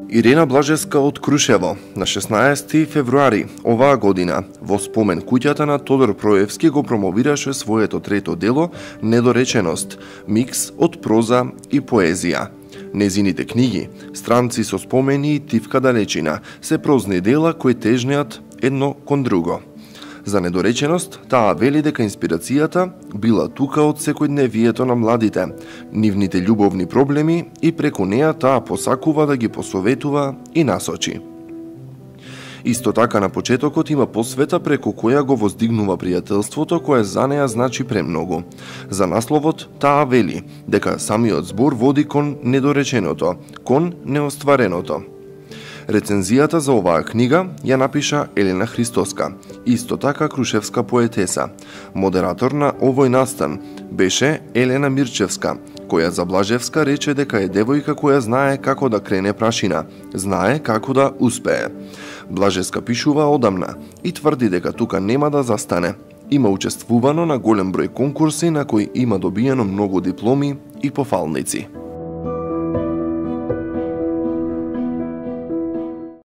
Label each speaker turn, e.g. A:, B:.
A: Ирена Блажевска од Крушево на 16 февруари оваа година во спомен куќата на Тодор Проевски го промовираше своето трето дело Недореченост, микс од проза и поезија. Незините книги, Странци со спомени и Тивка далечина, се прозни дела кои тежнеат едно кон друго. За Недореченост, таа вели дека инспирацијата била тука од секојдневието на младите, нивните љубовни проблеми и преку неа таа посакува да ги посоветува и насочи. Исто така на почетокот има посвета преку која го воздигнува пријателството кое за неа значи премногу. За насловот таа вели дека самиот збор води кон недореченото, кон неоствареното. Рецензијата за оваа книга ја напиша Елена Христоска, исто така крушевска поетеса. Модератор на овој настан беше Елена Мирчевска, која за Блажевска рече дека е девојка која знае како да крене прашина, знае како да успее. Блажевска пишува одамна и тврди дека тука нема да застане. Има учествувано на голем број конкурси на кои има добиено многу дипломи и пофалници.